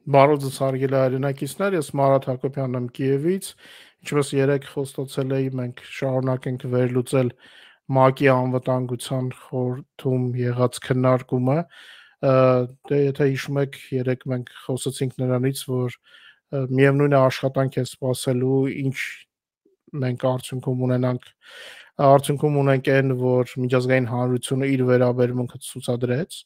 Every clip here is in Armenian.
Բարոյ հարգելի հայրենակիցներ, ես Մարատ Հակոբյանն եմ Կիևից, ինչպես երեք խոստացել էի, մենք շարունակենք վերլուծել ՄԱԿ-ի անվտանգության խորհրդում եղած քննարկումը, դե եթե հիշում եք, երեք մենք խոսեցինք նրանից, որ միևնույն է աշխատանք է սպասելու, ինչ մենք արդյունքում ունենք այն, որ միջազգային հանրությունը իր վերաբերմունքը ցուցադրեց,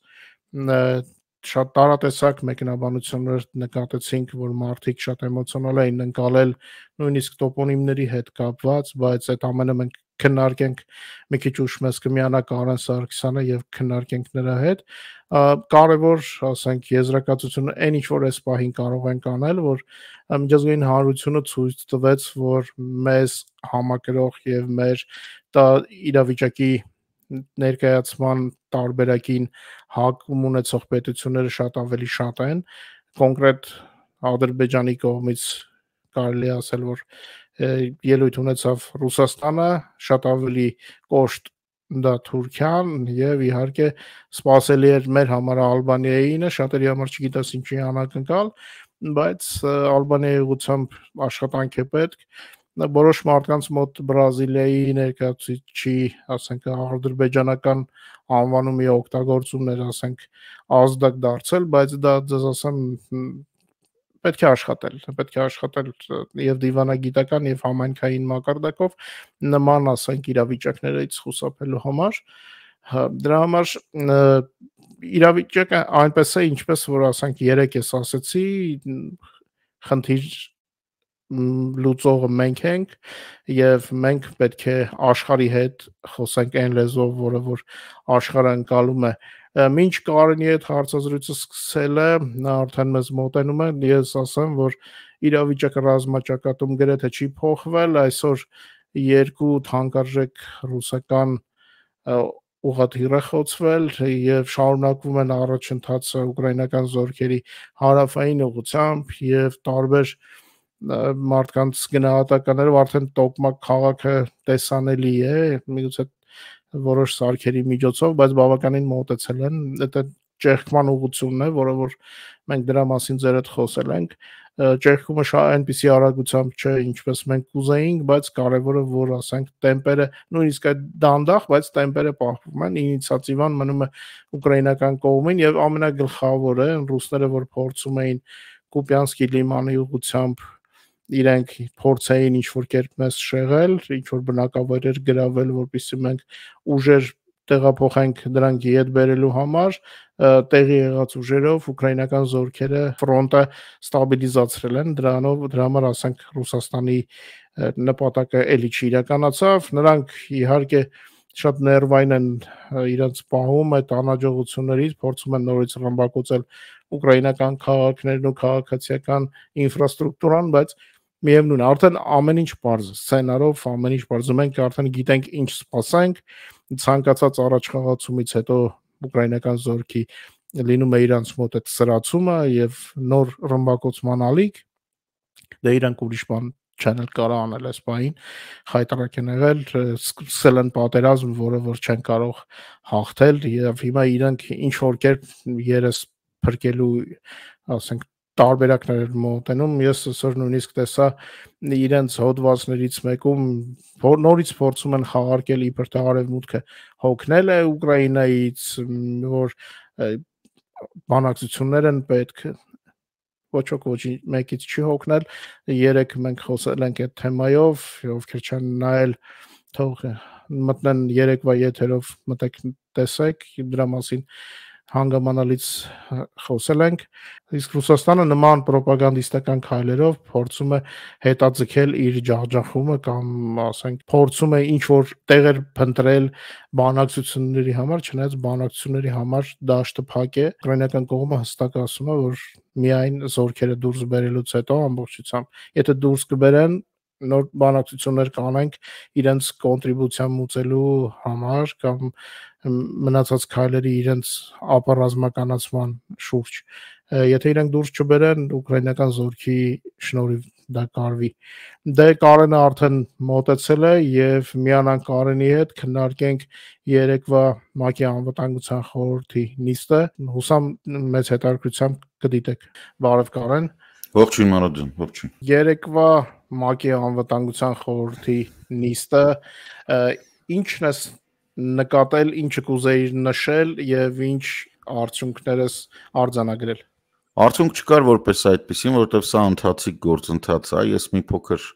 շատ տարատեսակ մեկնաբանություններ նկատեցինք, որ մարդիկ շատ էմոցիոնալ էին ընկալել նույնիսկ տոպոնիմների հետ կապված, բայց այդ ամենը մենք քննարկենք մի քիչ ուշ մեզ կմիանա Կարեն Սարգսյանը եւ քննարկենք նրա հետ։ Կարևոր, ասենք, եզրակացությունը այն ինչ որ այս պահին կարող ենք անել, որ միջազգային հանրությունը ցույց տվեց, որ մեզ համակրող եւ մեր իրավիճակի ներկայացման տարբերակին հակում ունեցող պետությունները շատ ավելի շատ են, կոնկրետ Ադրբեջանի կողմից կարելի ասել, որ ելույթ ունեցավ Ռուսաստանը, շատ ավելի կոշտ դա Թուրքիան եւ իհարկե սпасելի էր մեր համար Ալբանիայինը, շատերի համար չգիտես ինչի անակնկալ, բայց Ալբանիայի ուղղությամբ աշխատանք է պետք, որոշ մարդկանց մոտ Բրազիլիայի ներկայացուցիչի, ասենք, ադրբեջանական անվանումի օգտագործումներ, ասենք, ազդակ դարձել, բայց դա ձեզ ասեմ պետք է աշխատել եւ դիվանագիտական եւ համայնքային մակարդակով նման, ասենք, իրավիճակներից խուսափելու համար, դրա համար իրավիճակը այնպես է, ինչպես որ ասենք երեք ես ասեցի, խնդիր լուծողը մենք ենք եւ մենք պետք է աշխարհի հետ խոսենք այն լեզվով, որը որ աշխարհը ընկալում է։ Մինչ Կարենի հետ հարցազրույցը սկսելը նա արդեն մեզ մոտենում է, ես ասեմ, որ իրավիճակը ռազմաճակատում գրեթե չի փոխվել, այսօր երկու թանկարժեք ռուսական ուղղաթիռ է խոցվել եւ շարունակվում են առաջընթացը ուկրաինական զորքերի հարավային ուղղությամբ եւ տարբեր մարդկանց գնահատականներով արդեն Տոկմակ քաղաքը տեսանելի է, միգուցե որոշ սարքերի միջոցով, բայց բավականին մոտեցել են, դա ճեղքման ուղղությունն է, որը որ մենք դրա մասին ձեր հետ խոսել ենք, ճեղքումը այնպիսի արագությամբ չէ, ինչպես մենք կուզեինք, բայց կարևորը որ ասենք տեմպերը նույնիսկ այդ դանդաղ, բայց տեմպերը պահվում են, ինիցիատիվան մնում է ուկրաինական կողմին եւ ամենագլխավորը ռուսները որ փորձում էին Կուպյանսկի լիմանի ուղղությամբ իրենք փորձային ինչ-որ կերպ մեզ շեղել, ինչ-որ բնակավայրեր գրավել, որպեսզի մենք ուժեր տեղափոխենք դրանք ետ բերելու համար, տեղի եղած ուժերով ուկրաինական զորքերը ֆրոնտը ստաբիլիզացրել են, դրա համար ասենք Ռուսաստանի նպատակը էլի չիրականացավ, նրանք իհարկե շատ ներվային են իրենց պահում այդ անհաջողություններից, փորձում են նորից ռմբակոծել ուկրաինական քաղաքներն ու քաղաքացիական ինֆրաստրուկտուրան, բայց միևնույն է, արդեն ամեն ինչ պարզ է, սցենարով ամեն ինչ պարզ է, մենք արդեն գիտենք ինչ սպասենք, ցանկացած առաջխաղացումից հետո ուկրաինական զորքի լինում է իրանց մոտ այդ սրացումը եւ նոր ռմբակոծման ալիք, դե իրանք ուրիշ բան չեն կարող անել այս պահին, խայտարակ են եղել, սկսել են պատերազմ, որը որ չեն կարող հաղթել եւ հիմա իրանք ինչ որ կերպ երես փրկելու, ասենք, տարբերակներ մոտենում, ես այսօր նույնիսկ տեսա իրենց հոդվածներից մեկում նորից փորձում են խաղարկել իբր թե արևմուտքը հոգնել է Ուկրաինայից, որ բանակցություններ են պետք, ոչ մեկից չի հոգնել, երեք մենք խոսել ենք այդ թեմայով, ովքեր չեն նայել, թող մտնեն երեկվա եթերով մտեք տեսեք, դրա մասին հանգամանալից խոսել ենք, իսկ Ռուսաստանը նման պրոպագանդիստական քայլերով փորձում է հետաձգել իր ջախջախումը կամ ասենք փորձում է ինչ որ տեղեր փնտրել բանակցությունների համար, չնայած բանակցությունների համար դաշտը փակ է, ուկրաինական կողմը հստակ ասում է, որ միայն զորքերը դուրս բերելուց հետո ամբողջությամբ, եթե դուրս կբերեն նոր բանակցություններ կանենք իրենց կոնտրիբուցիա մուծելու համար կամ մնացած քայլերի իրենց ապառազմականացման շուրջ, եթե իրենք դուրս չբերեն ուկրաինական զորքի շնորհիվ դա կարվի։ Դե Կարենը արդեն մոտեցել է եւ միանան Կարենի հետ քննարկենք երեկվա ՄԱԿ-ի անվտանգության խորհրդի նիստը։ Հուսամ մեծ հետաքրքրությամբ կդիտեք։ Բարև Կարեն։ Ողջույն Մարոջան, ողջույն։ Երեկվա ՄԱԿ-ի անվտանգության խորհրդի նիստը ինչն է նկատել, ինչը կուզեիր նշել եւ ինչ արդյունքներս արձանագրել։ Արդյունք չկար որպես այդպեսին, որովհետև սա ընթացիկ գործընթաց է։ Ես մի փոքր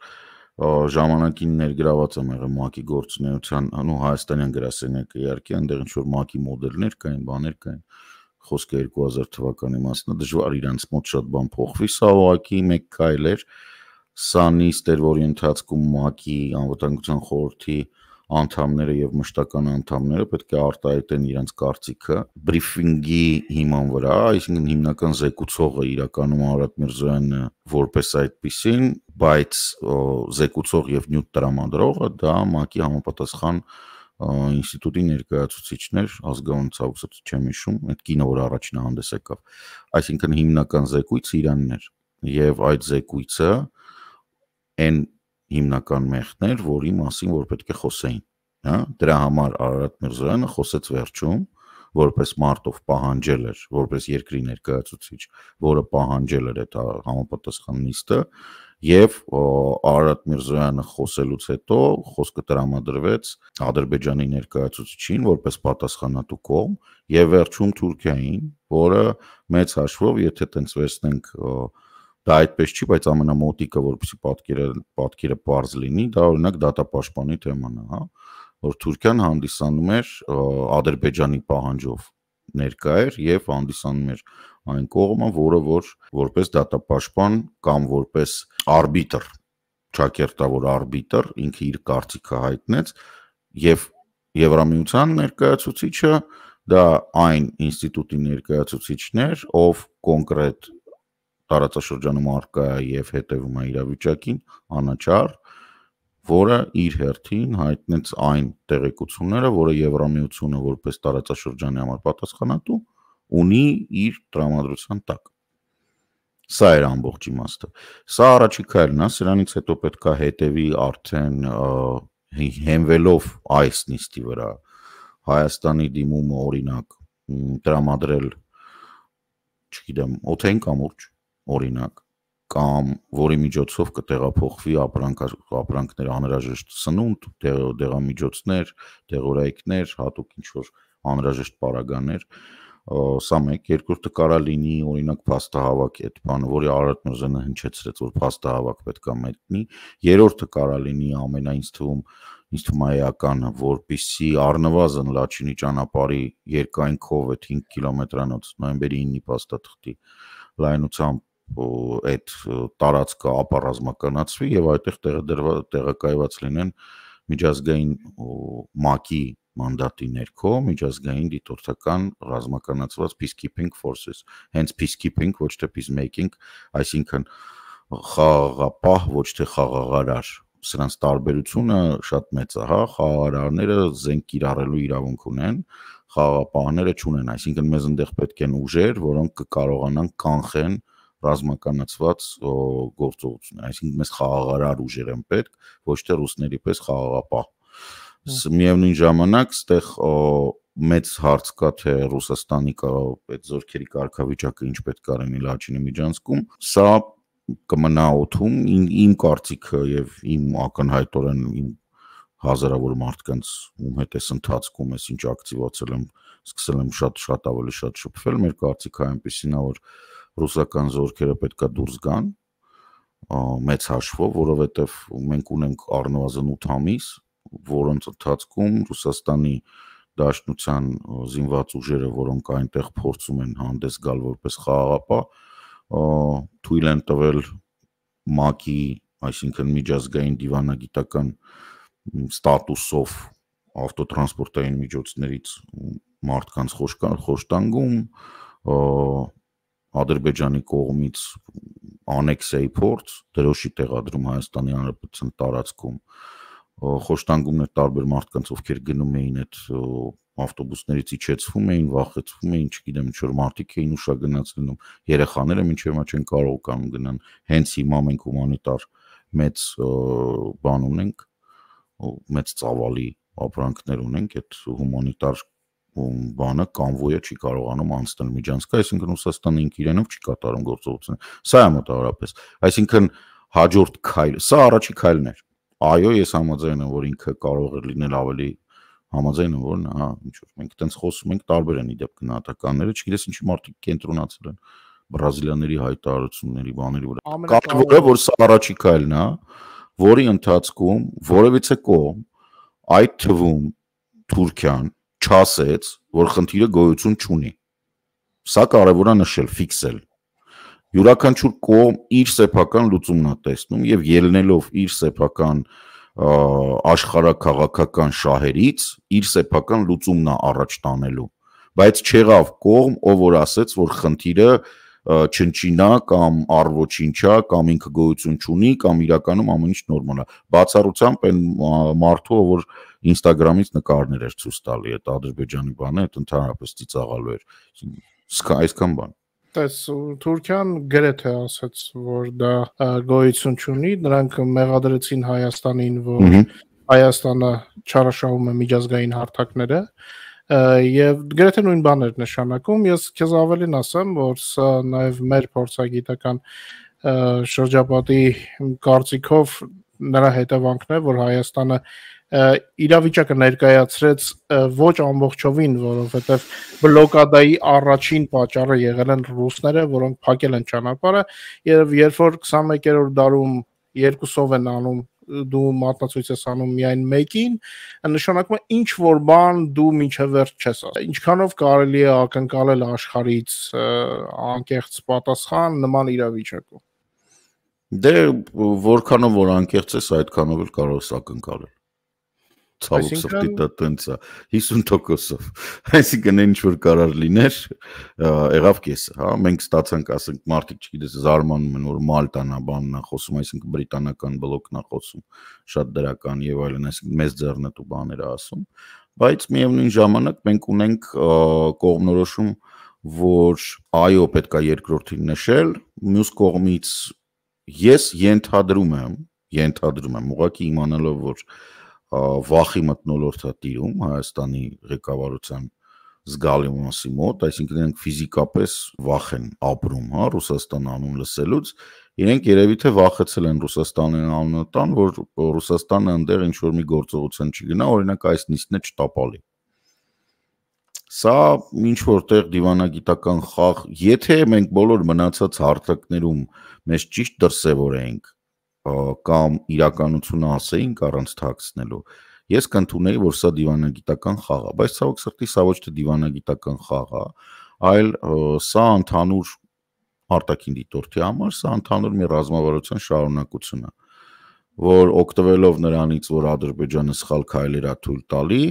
ժամանակին ներգրաված եմ եղել ՄԱԿ-ի գործունեության, հայաստանյան գրասենյակը իհարկե, այնտեղ ինչ որ ՄԱԿ-ի մոդելներ կային, բաներ կային, խոսքը 2000 թվականի մասն է, դժվար իրանց մոտ շատ բան փոխվի, սա ուղղակի մեկ քայլ էր։ Սա նիստ էր, որի ընթացքում ՄԱԿ-ի անվտանգության խորհրդի անդամները եւ մշտական անդամները պետք է արտահայտեն իրենց կարծիքը բրիֆինգի հիման վրա, այսինքն հիմնական զեկուցողը իրականում Արարատ Միրզոյանը որպես այդպիսին, բայց զեկուցող եւ նյութ տրամադրողը դա ՄԱԿ-ի համապատասխան ինստիտուտի ներկայացուցիչներ, ազգային ցավոք չեմ հիշում, այդ կինը որ առաջին հանդես եկավ, այսինքն հիմնական զեկույցը իրանն էր եւ այդ զեկույցը այն հիմնական մեղքներ, որի մասին որ պետք է խոսեին, հա, դրա համար Արարատ Միրզոյանը խոսեց վերջում, որպես մարտով պահանջել էր, որպես երկրի ներկայացուցիչ, որը պահանջել էր այդ համապատասխան նիստը, եւ Արարատ Միրզոյանը խոսելուց հետո խոսքը տրամադրվեց Ադրբեջանի ներկայացուցիչին որպես պատասխանատու կողմ եւ վերջում Թուրքիային, որը մեծ հաշվով, եթե տենց վերցնենք դա այդպես չի, բայց ամենամոտիկը, որպեսզի պատկերը պարզ լինի, դա օրինակ դատապաշտպանի թեման է, հա, որ Թուրքիան հանդիսանում էր Ադրբեջանի պահանջով ներկա էր եւ հանդիսանում էր այն կողմը, որը որպես դատապաշտպան կամ որպես արբիտր, ճակերտավոր արբիտր, ինքը իր կարծիքը հայտնեց եւ Եվրամիության ներկայացուցիչը դա այն ինստիտուտի ներկայացուցիչն էր, ով կոնկրետ տարածաշրջանում արկա է եւ հետեւում է իրավիճակին, անաչառ, որը իր հերթին հայտնեց այն տեղեկությունները, որը Եվրամիությունը որպես տարածաշրջանի համար պատասխանատու ունի իր տրամադրության տակ։ Սա էր ամբողջ իմաստը։ Սա առաջի քայլն է, սրանից հետո պետք է հետևի արդեն հենվելով այս նիստի վրա Հայաստանի դիմումը օրինակ տրամադրել, չգիտեմ, օթային կամուրջ օրինակ, կամ որի միջոցով կտեղափոխվի ապրանքներ անհրաժեշտ սնունդ, դեղամիջոցներ, դեղորայքներ, հատուկ ինչ-որ անհրաժեշտ պարագաներ, սա մեկ, երկրորդը կարա լինի օրինակ փաստահավաք այդ բանը, որի Արարատ Միրզոյանը հնչեցրեց, որ փաստահավաք պետք է մեկնի, երրորդը կարա լինի ամենայն ինձ թվում է էականը, որպեսզի առնվազն Լաչինի ճանապարհի երկայնքով այդ 5 կիլոմետրանոց նոյեմբերի 9-ի փաստաթղթի լայնությամբ այդ տարածքը ապառազմականացվի եւ այդտեղ տեղակայված լինեն միջազգային ՄԱԿ-ի մանդատի ներքո միջազգային դիտորդական ռազմականացված peacekeeping forces, hence peacekeeping, ոչ թե peacemaking, այսինքն խաղաղապահ, ոչ թե խաղաղարար, սրանց տարբերությունը շատ մեծ է, հա, խաղաղարարները զենք կիրառելու իրավունք ունեն, խաղաղապահները չունեն, այսինքն մեզ այնտեղ պետք են ուժեր, որոնք կկարողանան կանխեն ռազմականացված գործողություններ, այսինքն մեզ խաղաղարար ուժեր են պետք, ոչ թե ռուսների պես խաղաղապահ։ Միևնույն ժամանակ ստեղ մեծ հարց կա, թե Ռուսաստանի այդ զորքերի կարգավիճակը ինչ պետք է լինի Լաչինի միջանցքում, սա կմնա օդում, իմ կարծիքը եւ իմ ակնհայտորեն իմ հազարավոր մարդկանց ում հետ էս ընթացքում ես ինչ ակտիվացել եմ, սկսել եմ շատ ավելի շատ շփվել, մեր կարծիքը այնպեսին է, որ ռուսական զորքերը պետքա դուրս գան մեծ հաշվով, որովհետև մենք ունենք առնվազն 8 ամիս, որոնց ընթացքում Ռուսաստանի Դաշնության զինված ուժերը, որոնք այնտեղ փորձում են հանդես գալ որպես խաղաղապահ, թույլ են տվել ՄԱԿ-ի, այսինքն միջազգային դիվանագիտական ստատուսով ավտոտրանսպորտային միջոցներից մարդկանց խոշտանգում, Ադրբեջանի կողմից անեքսիայի փորձ, դրոշի տեղադրում Հայաստանի Հանրապետության տարածքում, խոշտանգումներ տարբեր մարդկանց, ովքեր գնում էին այդ ավտոբուսներից իջեցվում էին, վախեցվում էին, չգիտեմ, ինչ որ մարդիկ էին ուշագնաց լինում, երեխաները մինչև հիմա չեն կարող կամ գնան, հենց հիմա մենք հումանիտար մեծ բան ունենք, մեծ ծավալի ապրանքներ ունենք, այդ հումանիտար բանը կոնվոյը չի կարողանում անցնել միջանցքը, այսինքն Ռուսաստանը ինք իրենով չի կատարում գործողությունը։ Սա է մոտավորապես։ Այսինքն հաջորդ քայլը, սա առաջի քայլն էր։ Այո, ես համաձայն եմ, որ ինքը կարող է լինել ավելի համաձայն եմ, որ հա, ինչ որ մենք այտենց խոսում ենք, տարբեր են իդեպ գնահատականները, չգիտես ինչի մարդիկ կենտրոնացել են բրազիլիաների հայտարարությունների բաների վրա։ Կարևորը որ սա առաջի քայլն է, որի ընթացքում որևիցե կողմ, այդ թվում Թուրքիան չասեց, որ խնդիրը գոյություն չունի։ Սա կարևոր է նշել, ֆիքսել։ Յուրաքանչյուր կողմ իր սեփական լուծումն է տեսնում եւ ելնելով իր սեփական աշխարհաքաղաքական շահերից իր սեփական լուծումն է առաջ տանելու, բայց չեղավ կողմ, ով որ ասեց, որ խնդիրը չնչինա կամ առոչինչա կամ ինքը գոյություն չունի կամ իրականում ամեն ինչ նորմալ է։ Բացառությամբ այն մարդու, որ Instagram-ից նկարներ էր ցույց տալի, այդ Ադրբեջանի բանը, այդ ընդհանրապես ծիծաղալու էր։ Այսքան բան։ Տես Թուրքիան գրեթե ասաց, որ դա գոյություն չունի, նրանք մեղադրեցին Հայաստանին, որ Հայաստանը չարաշահում է միջազգային հարթակները, եւ գրեթե նույն բաներ նշանակում։ Ես քեզ ավելին ասեմ, որ սա նաեւ մեր փորձագիտական շրջապատի կարծիքով նրա հետևանքն է, որ Հայաստանը իրավիճակը ներկայացրեց ոչ ամբողջովին, որովհետև բլոկադայի առաջին պատճառը եղել են ռուսները, որոնք փակել են ճանապարհը, եւ երբ որ 21-րդ դարում երկուսով են անում, դու մատնացույց ես անում միայն մեկին, նշանակում է ինչ որ բան դու մինչև վերջ չես ասում։ Ինչքանով կարելի է ակնկալել աշխարհից անկեղծ պատասխան նման իրավիճակում։ Դե որքանով որ անկեղծ ես, այդքանով էլ կարող ես ակնկալել։ Ցավոք սրտի դա տենց է 50%-ով։ Այսինքն ինչ որ կարար լիներ, եղավ կեսը, հա, մենք ստացանք, ասենք, մարդիկ չգիտես, զարմանում են, որ Մալտան է, բանն է խոսում, այսինքն բրիտանական բլոկն է խոսում, շատ դրական եւ այլն, այսինքն մեծ ձեռնտու բաներ է ասում, բայց միևնույն ժամանակ մենք ունենք կողմնորոշում, որ այո, պետք է երկրորդին նշել, մյուս կողմից ես ենթադրում եմ, ուղղակի իմանալով, որ վախի մթնոլորտ է տիրում Հայաստանի ղեկավարության զգալի մասի մոտ, այսինքն իրենք ֆիզիկապես վախ են ապրում, հա, Ռուսաստան անուն լսելուց, իրենք երևի թե վախեցել են Ռուսաստանին անունը տան, որ Ռուսաստանը այնտեղ ինչ որ մի գործողության չգնա, օրինակ այս նիստն է չտապալի։ Սա ինչ որտեղ դիվանագիտական խաղ, եթե մենք բոլոր մնացած հարթակներում մեզ ճիշտ դրսևորենք կամ իրականությունը ասեինք առանց թաքցնելու, ես կընդունեի, որ սա դիվանագիտական խաղ է, բայց ցավոք սրտի սա ոչ թե դիվանագիտական խաղ է, այլ սա ընդհանուր արտաքին դիտորդի համար, սա ընդհանուր մի ռազմավարության շարունակություն է, որ օգտվելով նրանից, որ Ադրբեջանը սխալ քայլեր է թույլ տալի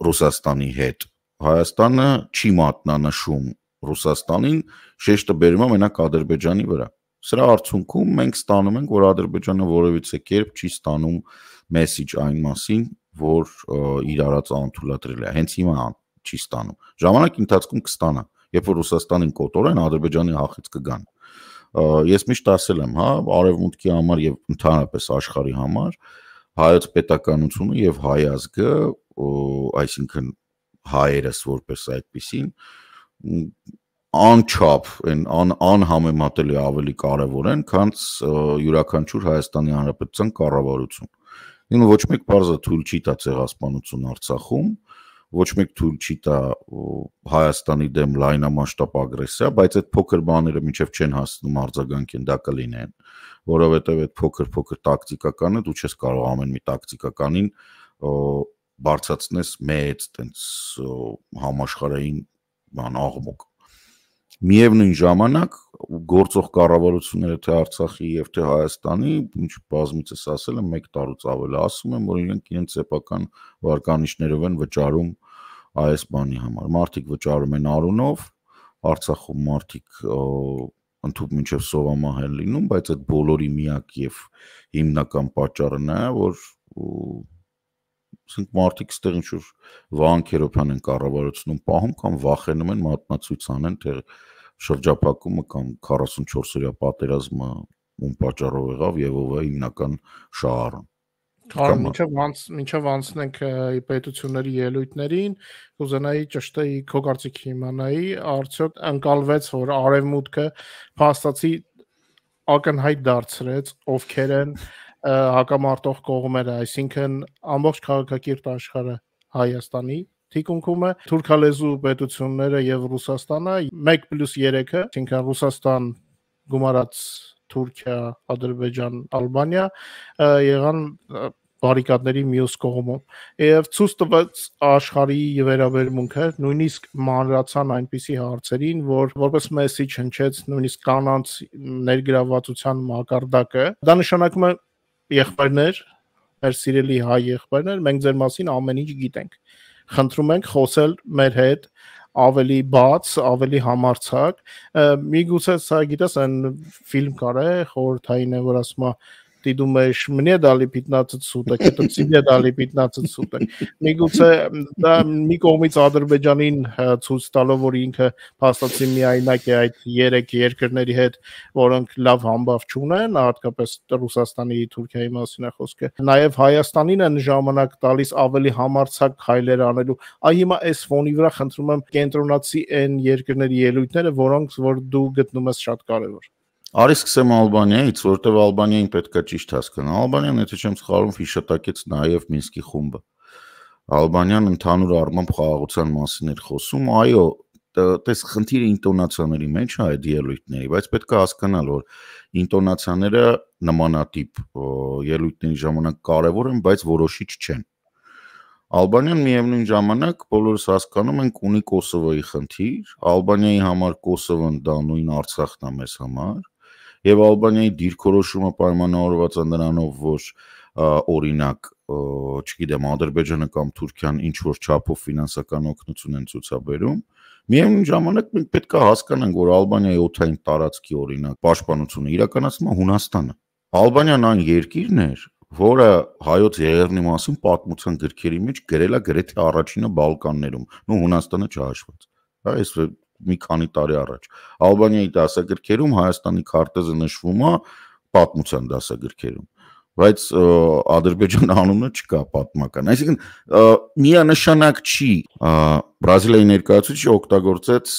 Ռուսաստանի հետ, Հայաստանը չի մատնանշում Ռուսաստանին, շեշտը բերում է մենակ Ադրբեջանի վրա։ Սրա արդյունքում մենք ստանում ենք, որ Ադրբեջանը որևիցե կերպ չի ստանում մեսիջ այն մասին, որ իր արած անթույլատրել է։ Հենց հիմա չի ստանում։ Ժամանակի ընթացքում կստանա, երբ որ Ռուսաստանին կոտորեն, Ադրբեջանի հախից կգան։ Ես միշտ ասել եմ, հա, արևմուտքի համար եւ ընդհանրապես աշխարհի համար հայոց պետականությունը եւ հայ ազգը, այսինքն հայերս որպես այդպեսին անչափ անհամեմատելի ավելի կարևոր են, քան յուրաքանչյուր Հայաստանի Հանրապետության կառավարություն։ Ինքը ոչ մեկ բարձր թույլ չի տա ցեղասպանություն Արցախում, ոչ մեկ թույլ չի տա Հայաստանի դեմ լայնամասշտաբ ագրեսիա, բայց այդ փոքր բաները մինչև չեն հասնում արձագանքին, դա կլինեն, որովհետև այդ փոքր տակտիկականը դու չես կարող ամեն մի տակտիկականին բարձրացնես մեծ տենց համաշխարհային բան աղմուկ։ Միևնույն ժամանակ գործող կառավարությունները թե Արցախի եւ թե Հայաստանի, ինչ բազմիցս ասել եմ, 1 տարուց ավել ասում եմ, որ իրենք սեփական վարկանիշներով են վճարում այս բանի համար։ Մարդիկ վճարում են արունով, Արցախում մարդիկ ընդհանուր մինչև սովամահ են լինում, բայց այդ բոլորի միակ եւ հիմնական պատճառը նա է, որ ասենք մարդիկ ստեղ ինչ-որ Վահան Քերոբյան են կառավարությունում պահում կամ վախենում են մատնացույց անեն, թե շրջափակումը կամ 44-օրյա պատերազմը ում պատճառով եղավ եւ ով է հիմնական շահառն։ Մինչև անցնենք պետությունների ելույթներին, կուզենայի ճշտեի քո կարծիքի իմանայի, արդյոք ընկալվեց, որ արևմուտքը փաստացի ակնհայտ դարձրեց ովքեր են հակամարտող կողմերը, այսինքն ամբողջ քաղաքակիրթ աշխարհը Հայաստանի թիկունքում է, թուրքալեզու պետությունները եւ Ռուսաստանը 1+3-ը, այսինքն Ռուսաստան գումարած Թուրքիա, Ադրբեջան, Ալբանիա եղան բարիկադների մյուս կողմում եւ ցույց տվեց աշխարհի վերաբերմունքը, նույնիսկ մանրացան այնպիսի հարցերին, որ որպես մեսիջ հնչեց նույնիսկ կանանց ներգրավվածության մակարդակը։ Դա նշանակում է եղբայրներ, մեր սիրելի հայ եղբայրներ, մենք ձեր մասին ամեն ինչ գիտենք։ Խնդրում ենք խոսել մեր հետ ավելի բաց, ավելի համարձակ։ Միգուցե սա գիտես այն ֆիլմ կար է, խորհրդային է, որ ասում է ты думаешь, мне дали 15 суток, это тебе дали 15 суток։ Միգուցե դա մի կողմից Ադրբեջանին ցույց տալով, որ ինքը փաստացի միայնակ է այդ 3 երկրների հետ, որոնք լավ համբավ չունեն, հատկապես Ռուսաստանի, Թուրքիայի մասին է խոսքը։ Նաև Հայաստանին են ժամանակ տալիս ավելի համարձակ քայլեր անելու։ Այ հիմա այս ֆոնի վրա խնդրում եմ կենտրոնացի այն երկրների ելույթները, որ դու գտնում ես շատ կարևոր։ Արի սկսեմ Ալբանիայից, որտեղ Ալբանիային պետքա ճիշտ հասկանա։ Ալբանիան, եթե չեմ սխալվում, հիշատակեց նաև Մինսկի խումբը։ Ալբանիան ընդհանուր առմամբ խաղաղության մասին էր խոսում, այո, տես խնդիրը ինտոնացիաների մեջ է այդ ելույթների, բայց պետք է հասկանալ, որ ինտոնացիաները նմանատիպ ելույթների ժամանակ կարևոր են, բայց որոշիչ չեն։ Ալբանիան միևնույն ժամանակ բոլորս հասկանում ենք ունի Կոսովոյի խնդիր, Ալբանիայի համար Կոսովոն դա նույն Արցախն է մեզ համար, եւ Ալբանիայի դիրքորոշումը պայմանավորված է նրանով, որ օրինակ, չգիտեմ, Ադրբեջանը կամ Թուրքիան ինչ որ չափով ֆինանսական օգնություն են ցուցաբերում, միևնույն ժամանակ մենք պետք է հասկանանք, որ Ալբանիայի օդային տարածքի օրինակ պաշտպանությունը իրականացնում է Հունաստանը։ Ալբանիան այն երկիրն էր, որը հայոց եղերնի մասին պատմության գրքերի մեջ գրել է գրեթե առաջինը Բալկաններում, Հունաստանը չհաշված։ Այս մի քանի տարի առաջ Ալբանիայի դասագրքերում Հայաստանի քարտեզը նշվում է պատմության դասագրքերում, բայց Ադրբեջանի անունը չկա պատմական։ Այսինքն միանշանակ չի Բրազիլիայի ներկայացուցիչը օգտագործեց,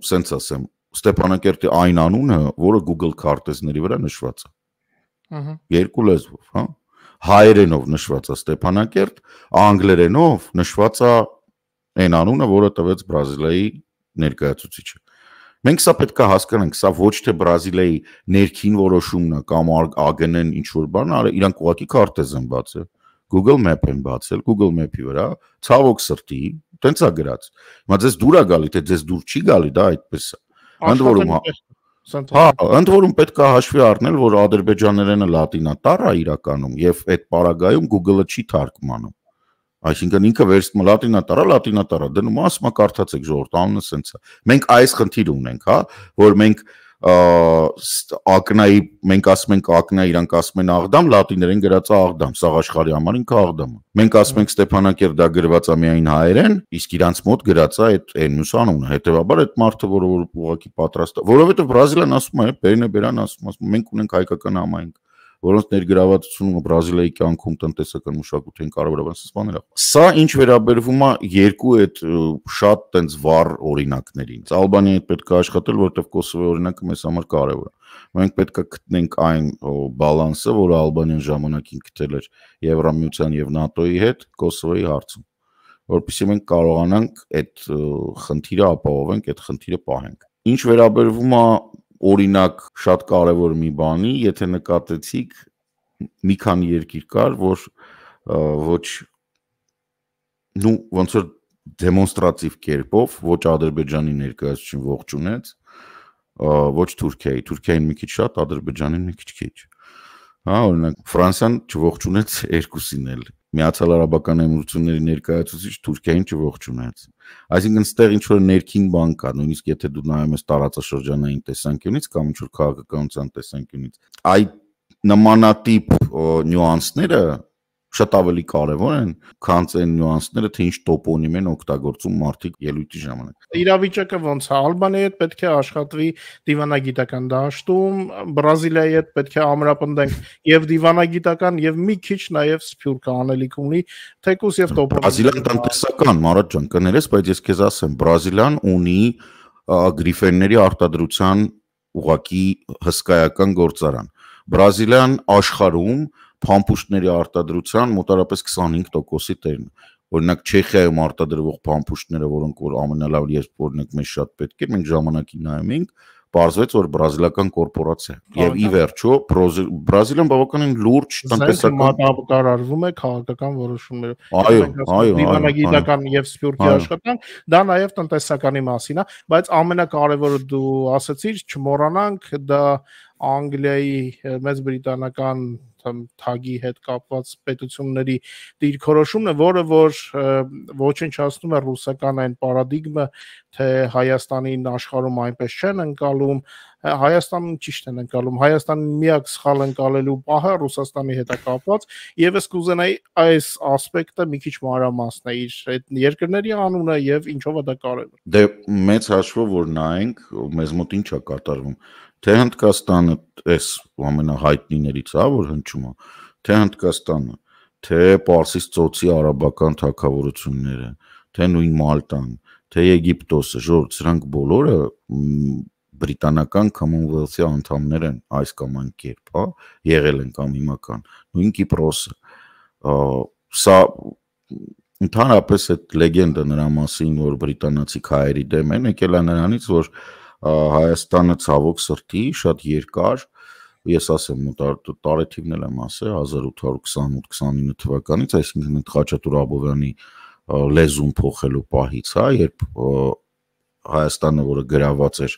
սենց ասեմ, Ստեփանակերտի այն անունը, որը Google քարտեզների վրա նշված է։ Երկու լեզվով, հա։ Հայերենով նշված է Ստեփանակերտ, անգլերենով նշված է այն անունը, որը տվեց Բրազիլիայի ներկայացուցիչը։ Մենք սա պետք է հասկանանք, սա ոչ թե Բրազիլիայի ներքին որոշումն է կամ ԱԳՆ-ն ինչ որ բան, իրանք ուղղակի քարտեզ են բացել, Google Map են բացել, Google Map-ի վրա, ցավոք սրտի, տենց է գրած։ Հիմա ձեզ դուր է գալի, թե ձեզ դուր չի գալի, դա այդպես է։ Ընդ որում պետք է հաշվի առնել, որ ադրբեջաներենը լատինատառ է իրականում եւ այդ պարագայում Google-ը չի թարգմանում։ Այսինքն ինքը վերցնում լատինատառը, դնում ասում է կարդացեք ժողովուրդ, անունը սենց է։ Մենք այս խնդիրը ունենք, հա, որ մենք ակնայի, մենք ասում ենք ակնա, իրանք ասում են Աղդամ, լատիներեն գրած է Աղդամ, սաղ աշխարհի համար ինքը Աղդամ է։ Մենք ասում ենք Ստեփանակերտ, դա գրված է միայն հայերեն, իսկ իրանց մոտ գրած է այդ մյուս անունը։ Հետևաբար այդ մարդը, որը ուղղակի պատրաստ է, որովհետև Բրազիլիան ասում է, բերան ասում, մենք ունենք հայկական համայնք, որոնց ներգրավվածությունը Բրազիլիայի կյանքում տնտեսական մշակութային կարևորաբան բաներ է։ Սա ինչ վերաբերվում է երկու այդ շատ տենց վառ օրինակներին։ Ալբանիայի պետք է աշխատել, որովհետև Կոսովոյի օրինակը մեզ համար կարևոր է։ Մենք պետք է գտնենք այն բալանսը, որը Ալբանիան ժամանակին գտել էր Եվրամիության եւ ՆԱՏՕ-ի հետ Կոսովոյի հարցում, որովհետեւ մենք կարողանանք այդ խնդիրը ապահովենք, այդ խնդիրը պահենք։ Ինչ վերաբերվում է օրինակ շատ կարևոր մի բանի, եթե նկատեցիք, մի քանի երկիր կար, որ ոչ ոնց որ դեմոնստրատիվ կերպով ոչ Ադրբեջանի ներկայացուցիչին ողջունեց, ոչ Թուրքիային մի քիչ շատ, Ադրբեջանին մի քիչ քիչ։ Հա, օրինակ Ֆրանսիան չողջունեց երկուսին էլ։ Միացյալ Արաբական Էմիրությունների ներկայացուցիչ Թուրքիային չողջունեց։ Այսինքն ստեղ ինչ որ ներքին բան կա, նույնիսկ եթե դու նայում ես տարածաշրջանային տեսանկյունից կամ ինչ որ քաղաքականության տեսանկյունից, այդ նմանատիպ նյուանսները շատ ավելի կարևոր են, քան այն նյուանսները, թե ինչ տոպոնիմ են օգտագործում մարդիկ ելույթի ժամանակ։ Իրավիճակը ոնց է, Ալբանիայի հետ պետք է աշխատվի դիվանագիտական դաշտում, Բրազիլիայի հետ պետք է ամրապնդենք եւ դիվանագիտական եւ մի քիչ նաեւ սփյուռք անելիք ունի, թեկուզ եւ տոպոնիմ։ Բրազիլիան տնտեսական, Մարատ ջան, կներես, բայց ես քեզ ասեմ, Բրազիլիան ունի գրիֆենների արտադրության ուղղակի հսկայական գործարան։ Բրազիլիան աշխարհում փամփուշտների արտադրության մոտարապես 25%-ի տերն է։ Օրինակ Չեխիայում արտադրվող փամփուշտները, որոնք որ ամենալավ երբ օրինակ մեզ շատ պետք է, մենք ժամանակին նայում ենք, պարզվեց, որ բրազիլական կորպորացիա է։ Եվ ի վերջո Բրազիլիան բավականին լուրջ տնտեսական մատակարարվում է քաղաքական որոշումներով։ Այո, դիվանագիտական եւ սփյուռքի աշխատանք, դա նաեւ տնտեսականի մասին է, բայց ամենակարևորը դու ասացիր, չմոռանանք, դա Անգլիայի Մեծ Բրիտանական թագի հետ կապված պետությունների դիրքորոշումն է, որը որ ոչնչացնում է ռուսական այն պարադիգմը, թե Հայաստանին աշխարհում այնպես չեն ընկալում, Հայաստանում ճիշտ են ընկալում, Հայաստանի միակ սխալ ընկալելու պահը Ռուսաստանի հետ է կապված, եւ ես կուզենայի այս ասպեկտը մի քիչ մանրամասն է իր այդ երկրների անունը եւ ինչով է դա կարևոր։ Դե մեծ հաշվով որ նայենք, մեզ մոտ ինչ է կատարվում, թե Հնդկաստանը այս ամենահայտնիներից է, որ հնչում է, թե Հնդկաստանը, թե Պարսից ծոցի արաբական թագավորությունները, թե նույն Մալտան, թե Եգիպտոսը, ժողովուրդ, սրանք բոլորը բրիտանական Commonwealth-ի անդամներ են այս կամ այն կերպ, հա, եղել են կամ հիմա կան, նույն Կիպրոսը, սա ընդհանրապես այդ լեգենդը նրա մասին, որ բրիտանացի քայերի դեմ են, եկել է նրանից, որ Հայաստանը ցավոք սրտի շատ երկար, ես ասեմ, տարեթիվն էլ եմ ասել 1828-29 թվականից, այսինքն Խաչատուր Աբովյանի լեզուն փոխելու պահից, հա, երբ Հայաստանը, որը գրաված էր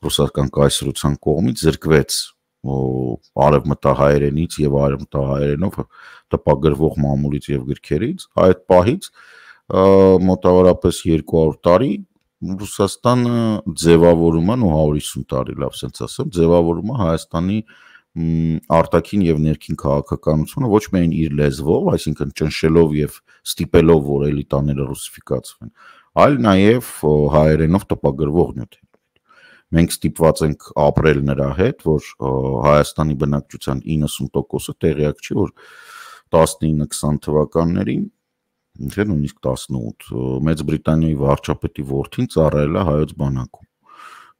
ռուսական կայսրության կողմից, զրկվեց արևմտահայերենից եւ արևմտահայերենով տպագրվող մամուլից եւ գրքերից, այդ պահից մոտավորապես 200 տարի Ռուսաստանը ձևավորում է, 150 տարի, լավ ասենց ասեմ, ձևավորում է Հայաստանի արտաքին եւ ներքին քաղաքականությունը ոչ միայն իր լեզվով, այսինքն ճնշելով եւ ստիպելով, որ էլիտաները ռուսիֆիկացվեն, այլ նաեւ հայերենով տպագրվող նյութեր։ Մենք ստիպված ենք ապրել նրա հետ, որ Հայաստանի բնակչության 90%-ը տեղյակ չի, որ 19-20 թվականներին, թե նույնիսկ 18, Մեծ Բրիտանիայի վարչապետի որդին ծառայել է հայոց բանակում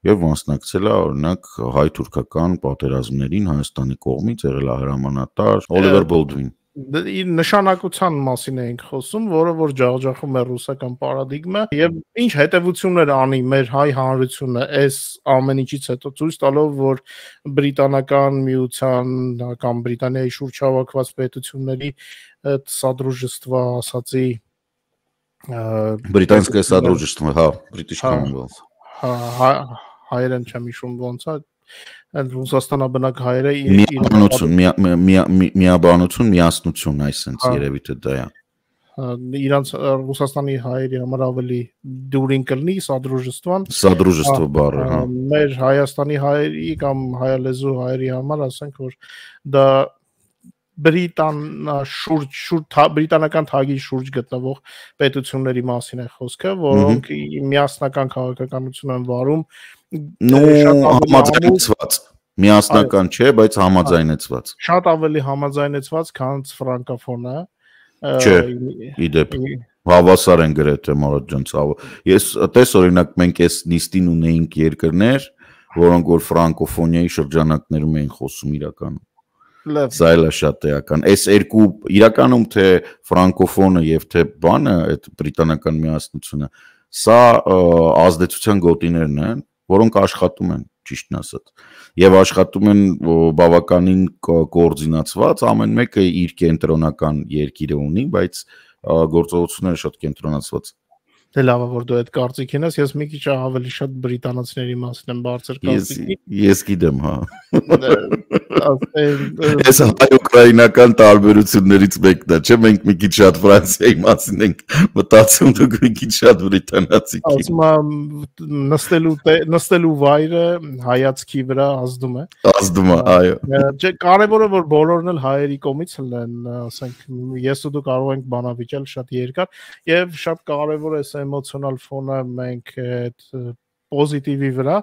եւ մասնակցել է օրինակ հայ-թուրքական պատերազմներին Հայաստանի կողմից, եղել է հրամանատար Օլիվեր Բոլդվին։ Իր նշանակության մասին ենք խոսում, որը որ ջախջախում է ռուսական պարադիգմը եւ ինչ հետեւություններ անի մեր հայ հանրությունը այս ամեն ինչից հետո ցույց տալով, որ բրիտանական միության կամ Բրիտանիայի շուրջ հավաքված պետությունների այդ սադրուժեства ասացի Британское содружество, հա, British Commonwealth։ Հայերեն չեմ հիշում ոնց է, Ռուսաստանաբնակ հայերը միաբանություն, միասնություն, այսպես երևի թե դա է։ Իրանց Ռուսաստանի հայերի համար ավելի դուրին կլինի սադրուժествան։ Սադրուժstvo բառը, հա։ Մեր Հայաստանի հայերի կամ հայալեզու հայերի համար ասենք, որ դա բրիտանական թագի շուրջ գտնվող պետությունների մասին է խոսքը, որոնք միասնական քաղաքականություն են վարում, համաձայնեցված, միասնական չէ, բայց համաձայնեցված։ Շատ ավելի համաձայնեցված, քան ֆրանկոֆոնը։ Չէ, իդեպ հավասար են գրեթե Մարատ ջան, ես տես օրինակ մենք այս նիստին ունեինք երկրներ, որոնք որ ֆրանկոֆոնիայի շրջանակներում էին խոսում իրականում։ Սա էլ է շատ էական։ Այս երկու իրականում թե ֆրանկոֆոնը եւ թե բանը, այդ բրիտանական միասնությունը, սա ազդեցության գոտիներն են, որոնք աշխատում են, ճիշտն ասած։ Եվ աշխատում են բավականին կոորդինացված, ամեն մեկը իր կենտրոնական երկիրը ունի, բայց գործողությունները շատ կենտրոնացված։ Դե լավ է որ դու այդ կարծիքին ես, ես մի քիչ ավելի շատ բրիտանացիների մասին եմ բարձր կարծիքի։ Ես գիտեմ, հա։ Ասեն Ես հայ-ուկրաինական տարբերություններից մեկն է, չէ՞, մենք մի քիչ շատ Ֆրանսիայի մասին ենք մտածում, դուք մի քիչ շատ բրիտանացի։ ասում եմ նստելու վայրը հայացքի վրա ազդում է։ Ազդում է, այո։ Չէ, կարևորը որ բոլորն էլ հայերի կողմից լինեն, ասենք ես ու դու կարող ենք բանավիճել շատ երկար եւ շատ կարևոր է այս էմոցիոնալ ֆոնը մենք այդ պոզիտիվի վրա,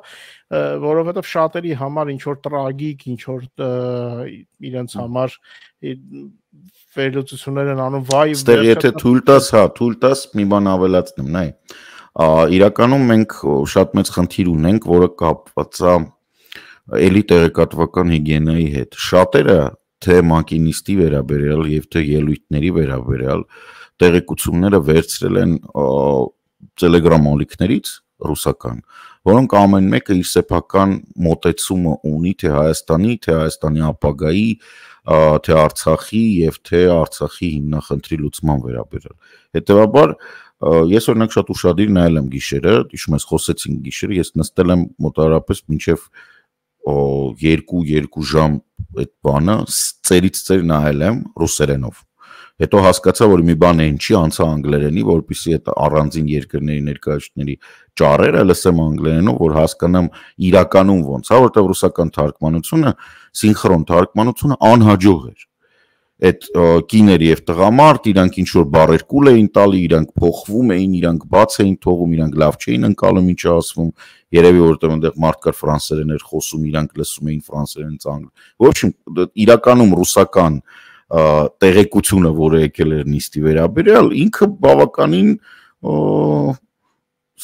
որովհետև շատերի համար ինչ որ տրագիկ, ինչ որ իրենց համար վերլուծություններ են անում, վայ, Ստեղ եթե թույլ տաս մի բան ավելացնեմ, նայ։ Իրականում մենք շատ մեծ խնդիր ունենք, որը կապված է էլի տեղեկատվական հիգիենայի հետ։ Շատերը թե մակինիստի վերաբերյալ եւ թե ելույթների վերաբերյալ տեղեկությունները վերցրել են Telegram ալիքներից ռուսական, որոնք ամեն մեկը իր սեփական մոտեցումը ունի թե Հայաստանի ապագայի, թե Արցախի եւ թե Արցախի հիմնախնդրի լուծման վերաբերյալ։ Հետևաբար ես օրինակ շատ ուշադիր նայել եմ գիշերը, հիշում ես խոսեցինք գիշերը, ես նստել եմ մոտավորապես մինչև 2 ժամ այդ բանը ծերից ծեր նայել եմ ռուսերենով։ Հետո հասկացա, որ մի բան այն չի, անցա անգլերենի, որպեսզի այդ առանձին երկրների ներկայացուցիչների ճառերը լսեմ անգլերենով, որ հասկանամ իրականում ոնց է, որտեղ ռուսական թարգմանությունը, սինխրոն թարգմանությունը անհաջող էր։ Այդ կիներ եւ տղամարդ, իրանք ինչ որ բառեր կուլ էին տալի, իրանք փոխվում էին, իրանք բաց էին թողում, իրանք լավ չէին ընկալում, ինչ ասվում, երևի որտեղ այնտեղ մարդ կար ֆրանսերեն էր խոսում, իրանք լսում էին ֆրանսերենից անգլ։ Ոչ, իրականում ռուսական տեղեկությունը, որը եկել էր նիստի վերաբերյալ, ինքը բավականին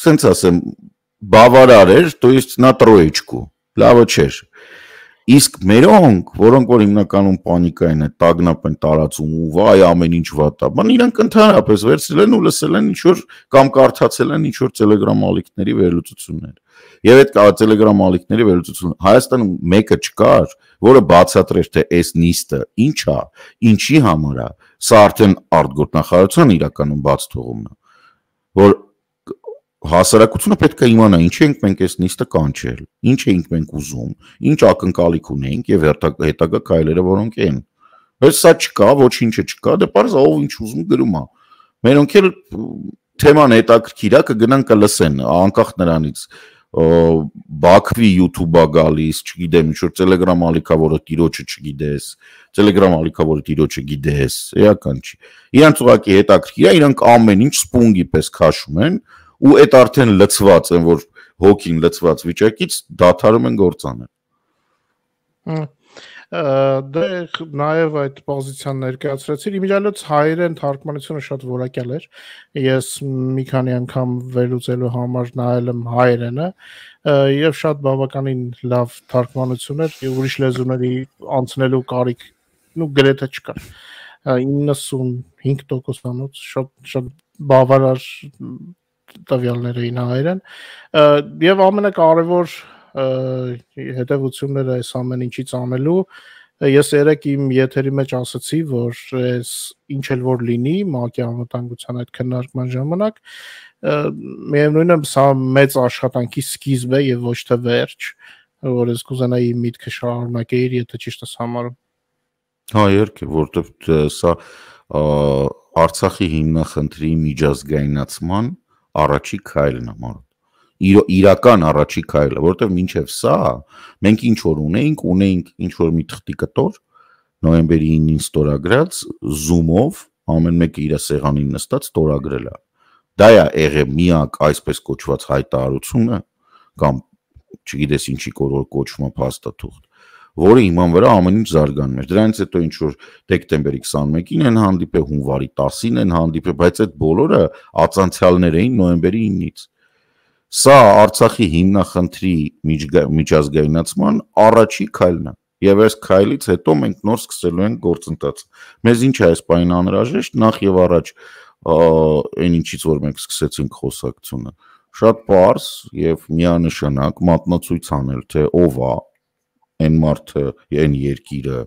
սենց ասեմ, բավարար էր, то есть на троечку, լավը չէր։ Իսկ մերոնք, որոնք որ հիմնականում պանիկային են, տագնապ են տարածում ու վայ ամեն ինչ վատ է, բան իրանք ընդհանրապես վերցրել են ու լսել են ինչ որ կամ կարդացել են ինչ որ Telegram ալիքների վերլուծություններ։ Եվ այդ Telegram ալիքների վերլուծությունը Հայաստանում մեկը չկար, որը բացատրեր թե այս նիստը ինչ է, ինչի համար է, սա արդեն արտգործնախարարության իրականում բաց թողումն է, որ հասարակությունը պետք է իմանա ինչ ենք մենք այս նիստը կանչել, ինչ ենք մենք ուզում, ինչ ակնկալիք ունենք եւ հետագա քայլերը որոնք են։ Բայց սա չկա, ոչինչը չկա, դե պարզ ով ինչ ուզում գրում է։ Մերոնք էլ թեման հետաքրքիր է, կգնան կլսեն, անկախ նրանից Բաքվի YouTube-ա գալիս, չգիտեմ, ինչ որ Telegram ալիքա, որը տիրոջը չգիտես, Telegram ալիքա, որը տիրոջը գիտես, էական չի։ Իրանց ուղղակի հետաքրքիր է, իրանք ամեն ինչ սպունգի պես քաշում են ու այդ արդեն լծված են, որ հոգին լծված վիճակից դադարում են գործանել։ Դե նաև այդ պոզիցիան ներկայացրեցիր, իմիջիայլոց հայերեն թարգմանությունը շատ որակյալ էր, ես մի քանի անգամ վերլուծելու համար նայել եմ հայերենը եւ շատ բավականին լավ թարգմանություն էր, ուրիշ լեզուների անցնելու կարիք գրեթե չկար, 95%-անոց շատ բավարար տվյալներ էին հայերեն եւ ամենակարևոր հետևությունները այս ամեն ինչից անելու ես երեք իմ եթերի մեջ ասացի, որ այս ինչ էլ որ լինի ՄԱԿ-ի անվտանգության այդ քննարկման ժամանակ միևնույնն է սա մեծ աշխատանքի սկիզբ է եւ ոչ թե վերջ, որ ես կուզենայի միտքը շարունակեի, եթե ճիշտ ես համարում։ Հա, երկե, որտեղ սա Արցախի հիմնախնդրի միջազգայնացման առաջի քայլն է մարդ։ Իրական առաջի քայլը, որտեղ մինչև սա մենք ինչ որ ունեինք ինչ որ մի թղթի կտոր նոյեմբերի 9-ին ստորագրած Zoom-ով ամեն մեկը իր սեղանին նստած ստորագրել է։ Դա է եղել միակ այսպես կոչված հայտարարությունը կամ չգիտես ինչի կոչվում է փաստաթուղթ, որը իման վրա ամեն ինչ զարգանում էր։ Դրանից հետո ինչ որ դեկտեմբերի 21-ին են հանդիպել, հունվարի 10-ին են հանդիպել, բայց այդ բոլորը ածանցյալներ էին նոյեմբերի 9-ից։ Սա Արցախի հիմնախնդրի միջազգայնացման առաջի քայլն է։ Եվ այս քայլից հետո մենք նոր սկսելու ենք գործընթաց։ Մեզ ինչ է այս պահին անհրաժեշտ, նախ եւ առաջ այն ինչից որ մենք սկսեցինք խոսակցությունը, շատ պարզ եւ միանշանակ մատնացույց անել, թե ով է այն մարդը, այն երկիրը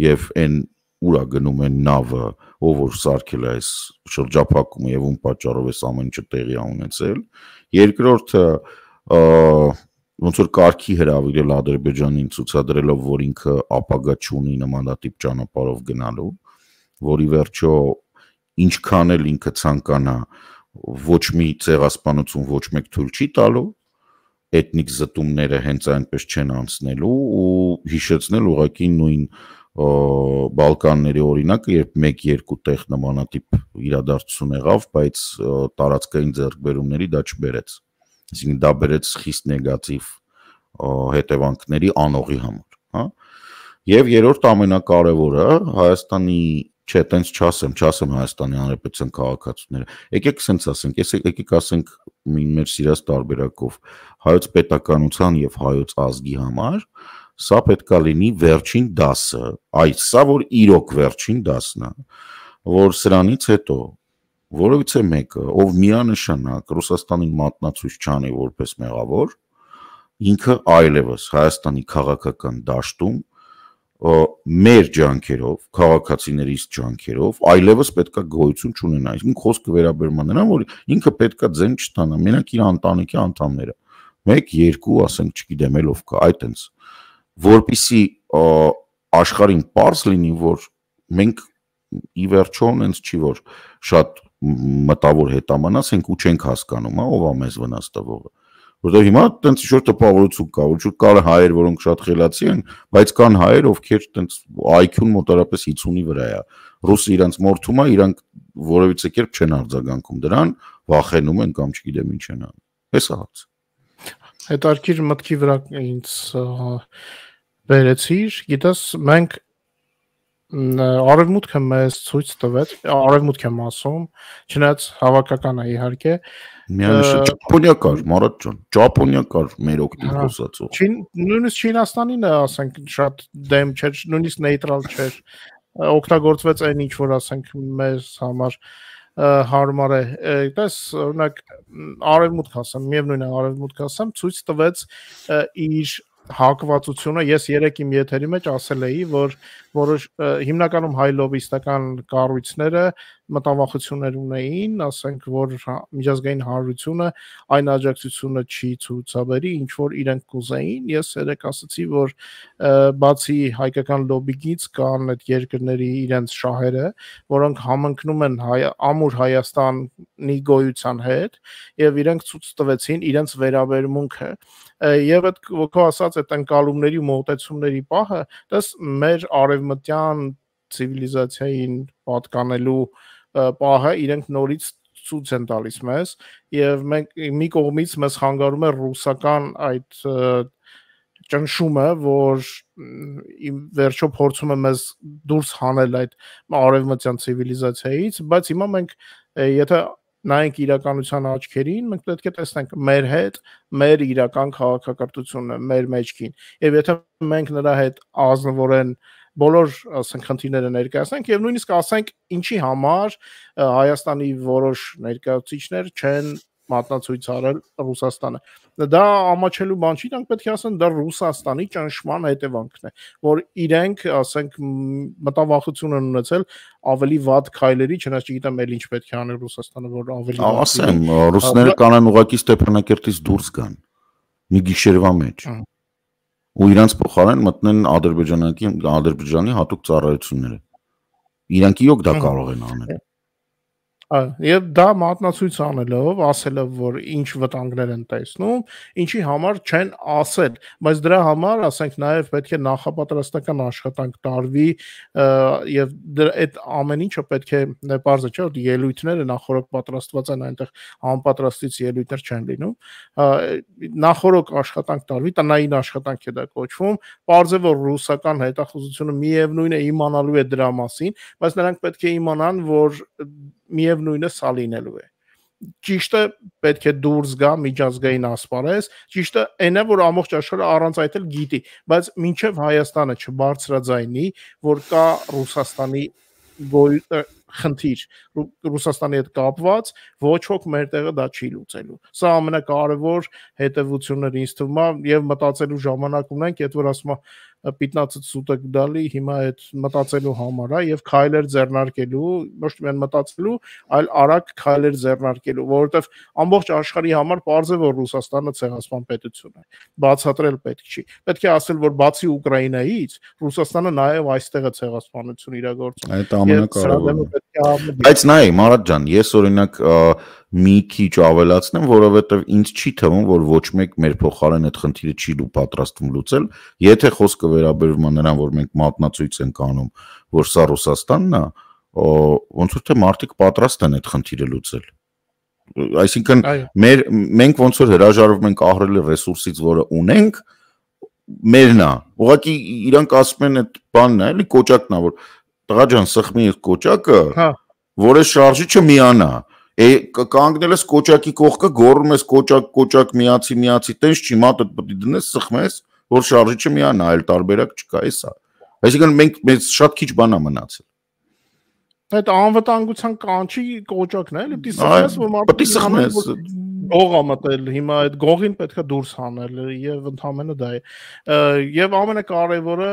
եւ այն ուրա գնում են նավը, ով որ սարքել է այս շրջափակումը եւ ում պատճառով էս ամեն ինչը տեղի ունեցել։ Երկրորդը ոնց որ կարգի հրավիրել Ադրբեջանին ցուցադրելով, որ ինքը ապագա չունի նմանատիպ ճանապարհով գնալու, որի վերջո ինչքան էլ ինքը ցանկանա ոչ մի ցեղասպանություն ոչ մեկ թույլ չի տալու, էթնիկ զտումները հենց այնպես չեն անցնելու ու հիշեցնել ուղղակի նույն Բալկանների օրինակը, երբ 1-2 տեղ նմանատիպ իրադարձություն եղավ, բայց տարածքային ձեռքբերումների դա չբերեց։ Այսինքն դա բերեց խիստ նեգատիվ հետևանքների անողի համար, հա։ Եւ երրորդ ամենակարևորը Հայաստանի, չէ, տենց չասեմ Հայաստանի Հանրապետության քաղաքացիները։ Եկեք սենց ասենք, եկեք ասենք մեր սիրած տարբերակով հայոց պետականության եւ հայոց ազգի համար սա պետքա լինի վերջին դասը, սա որ իրոք վերջին դասն է, որ սրանից հետո որևիցե մեկը, ով միանշանակ Ռուսաստանին մատնացույց չանի որպես մեղավոր, ինքը այլևս Հայաստանի քաղաքական դաշտում մեր ջանքերով, քաղաքացիներից ջանքերով այլևս պետքա գոյություն չունենա։ Իսկ խոսքը վերաբերում է նրան, որ ինքը պետքա ձեն չտանա, մենակ իր ընտանիքի անդամները։ 1-2, ասենք, չգիտեմ, ելով կա, այտենց, որպիսի աշխարհին պարզ լինի, որ մենք ի վերջո հենց չի որ շատ մտավոր հետամանաց ենք ու չենք հասկանում, ով է մեզ վնաս տվողը։ Որտեղ հիմա տենց ինչ-որ տպավորություն կա, որ կան հայեր, որոնք շատ խելացի են, բայց կան հայեր, ովքեր տենց IQ-ն մոտարապես 50-ի վրա է։ Ռուսը իրանց մորթում է, իրանք որևիցե կերպ չեն արձագանքում դրան, վախենում են կամ չգիտեմ ինչ են անում։ Էս է հարցը։ Հետարքիր մտքի վրա ինձ վերեցիր, գիտես, մենք արևմուտքը մեզ ցույց տվեց, արևմուտք եմ ասում, չնայած հավաքական է իհարկե, միանշանակ Ճապոնիա կար, Մարատ ջան, Ճապոնիա կար մեր օգտին խոսածով։ Նույնիսկ Չինաստանին է, ասենք, շատ դեմ չէր, նույնիսկ նեյտրալ չէր, օգտագործվեց այն ինչ որ ասենք մեզ համար հարմար է, այդպես օրինակ արևմուտք ասեմ, միևնույն է արևմուտք ասեմ, ցույց տվեց իր հակվածությունը, ես երեք իմ եթերի մեջ ասել էի, որ որոշ հիմնականում հայ լոբիստական կառույցները մտավախություններ ունեին, ասենք, որ միջազգային հանրությունը այն աջակցությունը չի ցուցաբերի, ինչ որ իրենք կուզեին, ես երեք ասացի, որ բացի հայկական լոբիից կան այդ երկրների իրենց շահերը, որոնք համընկնում են ամուր Հայաստանի գոյության հետ եւ իրենք ցույց տվեցին իրենց վերաբերմունքը եւ այդ քո ասած այդ ընկալումների ու մոտեցումների պահը, դες մեր արևմտյան ցիվիլիզացիային պատկանելու պահը իրենք նորից ցույց են տալիս մեզ եւ մենք մի կողմից մեզ խանգարում է ռուսական այդ ճնշումը, որ վերջո փորձում է մեզ դուրս հանել այդ արևմտյան ցիվիլիզացիայից, բայց հիմա մենք եթե նայենք իրականության աչքերին, մենք պետք է տեսնենք մեր հետ, մեր իրական քաղաքակրթությունը, մեր մեջքին։ Եվ եթե մենք նրա հետ ազնվորեն բոլոր ասենք խնդիրները ներկայացնենք եւ նույնիսկ ասենք ինչի համար Հայաստանի որոշ ներկայացուցիչներ չեն մատնացույց արել Ռուսաստանը։ Դա ամաչելու բան չի, դրանք պետք է ասեն դա Ռուսաստանի ճնշման հետևանքն է, որ իրենք, ասենք, մտավախություն են ունեցել ավելի վատ քայլերի, չնայած չգիտեմ էլ ինչ պետք է անել Ռուսաստանը, որ ավելի վատ։ Ասեմ, ռուսները կանեն ուղղակի Ստեփանակերտից դուրս գան մի գիշերվա մեջ։ Ու իրանց փոխարեն մտնեն Ադրբեջանի հատուկ ծառայությունները։ Իրանք իրոք դա կարող են անել։ Եվ դա մատնացույց անելով, ասելով, որ ինչ վտանգներ են տեսնում, ինչի համար չեն ասել, բայց դրա համար, ասենք, նաև պետք է նախապատրաստական աշխատանք տարվի եւ այդ ամեն ինչը պետք է պարզը չէ, որ ելույթները նախորդ պատրաստված են, այնտեղ անպատրաստից ելույթներ չեն լինում, նախորդ աշխատանք տարվի, տնային աշխատանք է դա կոչվում, պարզ է, որ ռուսական հետախուզությունը միևնույն է իմանալու է դրա մասին, բայց նրանք պետք է իմանան, որ միևնույնը սա լինելու է։ Ճիշտը պետք է դուրս գա միջազգային ասպարեզ, ճիշտը այն է, որ ամբողջ աշխարհը առանց այդ էլ գիտի, բայց մինչև Հայաստանը չբարձրաձայնի, որ կա Ռուսաստանի խնդիր, Ռուսաստանի հետ կապված, ոչ ոք մեր տեղը դա չի լուծելու։ Սա ամենակարևոր հետևությունները ինձ թվում է եւ մտածելու ժամանակ ունենք, այդ որ ասում պիտնացը սուտը գդալի հիմա այդ մտածելու համար, եւ քայլեր ձեռնարկելու, ոչ միայն մտածելու, այլ արագ քայլեր ձեռնարկելու, որովհետեւ ամբողջ աշխարհի համար պարզ է, որ Ռուսաստանը ցեղասպան պետություն է։ Բացատրել պետք չի։ Պետք է ասել, որ բացի Ուկրաինայից Ռուսաստանը նաեւ այստեղ է ցեղասպանություն իրագործում։ Այդ ամենակարևորը։ Բայց նայ, Մարատ ջան, ես օրինակ մի քիչ ավելացնեմ, որովհետև ինձ չի թվում, որ ոչ մեկ մեր փոխարեն այդ խնդիրը չի պատրաստվում լուծել, եթե խոսքը վերաբերվում է նրան, որ մենք մատնացույց ենք անում, որ սա Ռուսաստանն է, ոնց որ թե մարդիկ պատրաստ են այդ խնդիրը լուծել։ Այսինքն մենք ոնց որ հրաժարվում ենք ահռելի ռեսուրսից, որը ունենք, մերն է։ Ուղղակի իրանք ասում են այդ բանն է, էլի կոճակն է, որ տղա ջան, սխմի այս կոճակը, որը շարժիչը միանա։ Կանգնել ես կոճակի կողքը, գոռում ես կոճակ միացի, տենց չի, մատը պետք է դնես, սխմես, որ շարժիչը միանա, այլ տարբերակ չկա, էսա։ Այսինքն մենք շատ քիչ բան է մնացել։ Այդ անվտանգության կանչի կոճակն է, էլի պիտի սխմես, որ մարդը սխմես։ Գող է մտել, հիմա այդ գողին պետք է դուրս հանել եւ ընդհանրապես դա է։ Եվ ամենակարևորը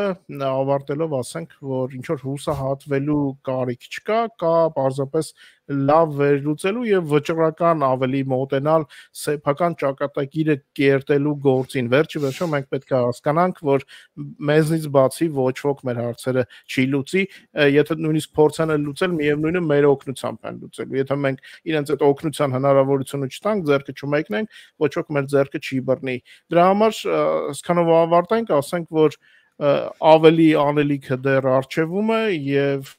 ավարտելով ասենք, որ ինչ որ հուսահատվելու կարիք չկա, կա պարզապես լավ վերլուծելու եւ վճռական ավելի մոտենալ սեփական ճակատագիրը կերտելու գործին։ Վերջի վերջո մենք պետք է հասկանանք, որ մեզնից բացի ոչ ոք մեր հարցերը չի լուծի, եթե նույնիսկ փորձեն լուծել, միևնույնը մեր օգնությամբ են լուծելու։ Եթե մենք իրենց այդ օգնության հնարավորությունը չտանք, ձեռքը չմեկնենք, ոչ ոք մեր ձեռքը չի բռնի։ Դրա համար այսքանով ավարտենք, ասենք, որ ավելի անելիքը դեռ արժևում է եւ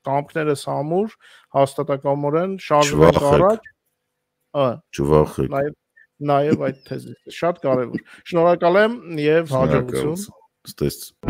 կամքներս համուր հաստատակամորեն շարժվենք առաջ։ Չվախեք։ Նաեւ այդ թեզիսը շատ կարևոր։ Շնորհակալ եմ եւ հաջողություն։